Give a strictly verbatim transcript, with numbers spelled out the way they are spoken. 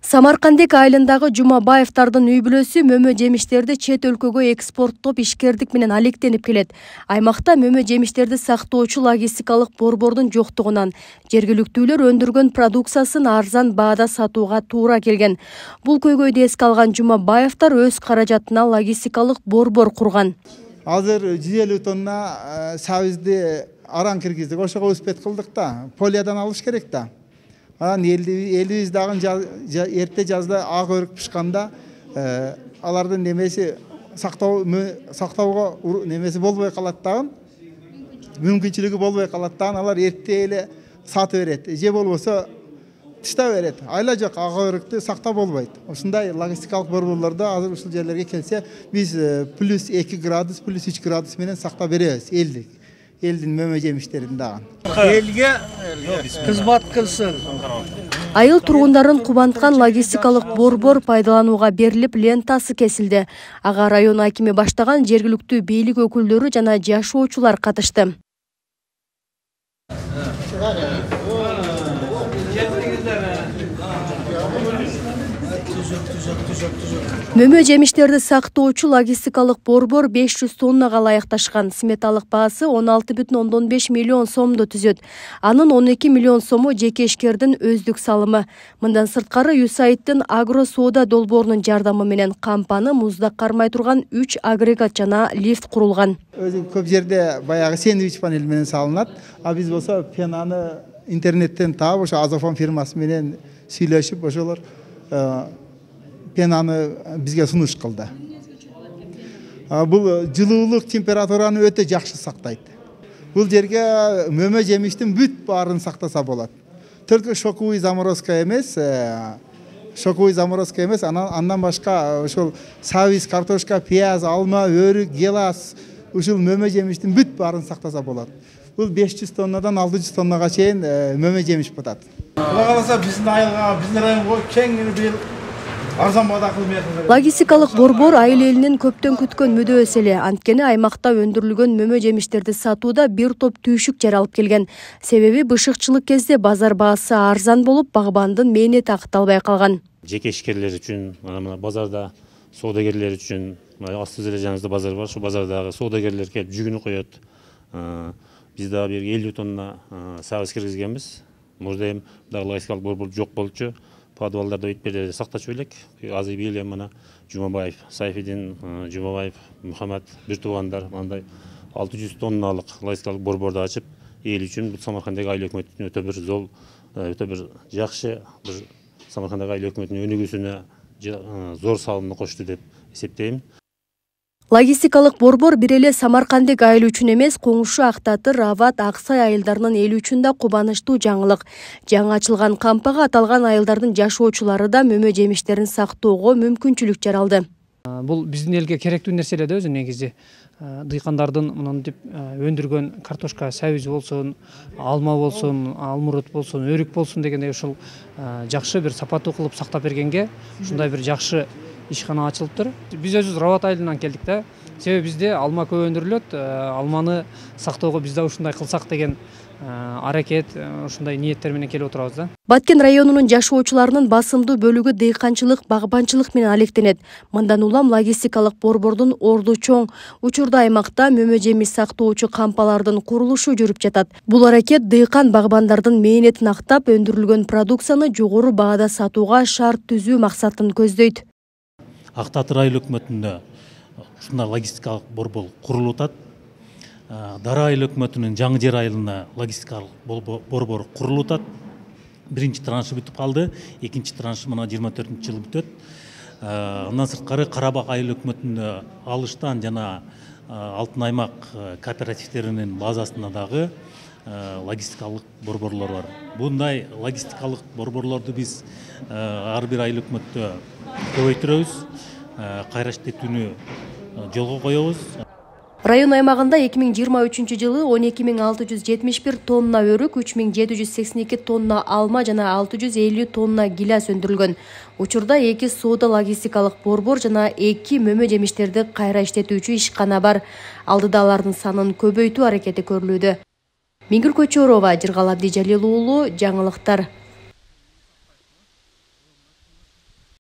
Самаркандек айылындагы Жумабаевдардын үй бүлөсү мөмө жемиштерди чет өлкөгө экспорттоп ишкердик менен алектенип келет. Аймакта мөмө жемиштерди сактоочу логистикалык борбордун жоктугунан жергиликтүүлөр өндүргөн продукциясын арзан баада сатууга туура келген. Бул көйгөйдү эске алган Жумабаевдар өз каражатына логистикалык борбор курган. Азыр жүз элүү тонна сабизди аран киргиздик, ошого успет кылдык да, полиядан алыш керек да. Анан элибиз дагы эрте жазда ак өрүк пышканда алардын немеси сактоо сактоого немеси болбой калат дагы, мүмкүнчүлүгү болбой калат дагы, алар эрте эле сатып берет, же болбосо тыштап берет. Айла жок, ак өрүктү сактап болбойт. Ушундай логистикалык борборлордо азыр ушул жерлерге келсе, биз плюс эки градус, плюс үч градус менен сактап беребиз элдик. Элдин мөмө жемиштерин дагы. Элге кызмат кылсын. Айыл тургундарын кубанткан логистикалык борбор пайдаланууга берилип, лентасы кесилди. Ага район акими баштаган жергиликтүү бийлик өкүлдөрү жана жашоочулар катышты. Мөмө жемиштерди сактоочу логистикалык борбор беш жүз тоннага ылайыкташкан. Сметалык баасы он алты бүтүн ондон беш миллион сомду түзөт. Анын он эки миллион сому жеке ишкердин өздүк салымы. Мындан сырткары Юсайттын агро соода долбоорунун жардамы менен кампаны музда кармай турган үч агрегат жана лифт курулган. Өзү көп жерде баягы сэндвич панель менен салынат, а биз болсо пенаны интернеттен таап, ошо Азофон фирмасы менен сүйлөшүп, ошолор пенаны бизге сунуш кылды. Бул жылуулук температураны өтө жакшы сактайт. Бул жерге мөмө жемиштин бүт баарын сактаса болот. Только шоковый заморозка эмес, шоковый заморозка эмес, андан башка ошол сабиз, картошка, пияз, алма, өрүк, гелас, ушул мөмө жемиштин бүт баарын сактаса болот. Бул беш жүз тоннадан алты жүз тоннага чейин мөмө жемиш батат. Кула каласа биздин айылга, биздин районго кең бир арзан баада кылмай. Логистикалык борбор айыл элинин көптөн күткөн мүдөөсү эле. Анткени аймакта өндүрүлгөн мөмө жемиштерди сатууда бир топ түйшүк жаралып келген. Себеби бышыкчылык кезде базар баасы арзан болуп, багбандын мээнети акталбай калган. Жеке ишкерлер үчүн, мына базарда соодагерлер үчүн, асты эле жаныбызда базар бар, ошол базардагы соодагерлер келип жүгүнү коет. Биз дагы бир элүү тонна сабыз киргизгенбиз. Мурда эми дагы логистикалык борбор жок болчу. Подвалдарда өйтпелерди сактачу элек. Азыр бийле мына Жумабаев, Сайфидин, Жумабаев, Мухаммад бир туугандар мындай алты жүз тонналык логистикалык борборду ачып, эл үчүн Самаркандагы айыл өкмөтүнүн өтө бир зол, өтө бир жакшы бир Самаркандагы айыл өкмөтүнүн өнүгүүсүнө зор салымды кошту деп эсептейм. Логистикалык борбор бир эле Самаркандек айыл үчүн эмес, Коңшу, Актатыр, Ават, Аксай айылдарынын эли үчүн да кубанычтуу жаңылык. Жаңы ачылган кампага аталган айылдардын жашоочулары да мөмө жемиштерин сактоого мүмкүнчүлүк жаралды. Бул биздин элге керектүү нерсе эле да өзү негизи. Дыйкандардын мынтип өндүргөн картошка, сабиз болсун, алма болсун, алмурут болсун, өрүк болсун дегендей ушул жакшы бир сапаттуу кылып сактап бергенге ушундай бир жакшы ишкана ачылыптыр. Биз өзүбүз Рават айылынан келдик да. Себеби бизде алма көп өндүрүлөт. Алманы сактоого биз да ушундай кылсак деген аракет, ушундай ниеттер менен келип отурабыз да. Баткен районунун жашоочуларынын басымдуу бөлүгү дыйканчылык, багбанчылык менен алектенет. Мындан улам логистикалык борбордун орду чоң. Учурда аймакта мөмө жемиш сактоочу кампалардын курулушу жүрүп жатат. Бул аракет дыйкан багбандардын мээнетин актап, өндүрүлгөн продукцияны жогору баада сатууга шарт түзүү максатын көздөйт. Актатыр айыл өкмөтүндө ушундай логистикалык борбор курулуп атат. Дара айыл өкмөтүнүн Жаңы Жер айылына логистикалык борбор курулуп атат. Биринчи траншы бүтүп калды, экинчи траншы мына жыйырма төртүнчү жылы бүтөт. Андан сырткары Карабак айыл өкмөтүндө Алыштан жана Алтын аймак кооперативтеринин базасында дагы логистикалык борборлор бар. Bunday логистикалык борборлорду биз ар бир айыл өкмөттө көбөйтүрөбүз, кайрач тетүүнү жолго коебуз. Район аймагында эки миң жыйырма үчүнчү жылы он эки миң алты жүз жетимиш бир тонна өрүк, үч миң жети жүз сексен эки тонна алма жана алты жүз элүү тонна гилас өндүрүлгөн. Учурда эки соода логистикалык борбор жана эки мөмө жемиштерди кайра иштетүүчү ишкана бар. Алдыда алардын санын көбөйтүү аракети көрүлүүдө. Миңгүл Көчөрова, Жыргал Абдижалил уулу, жаңылыктар.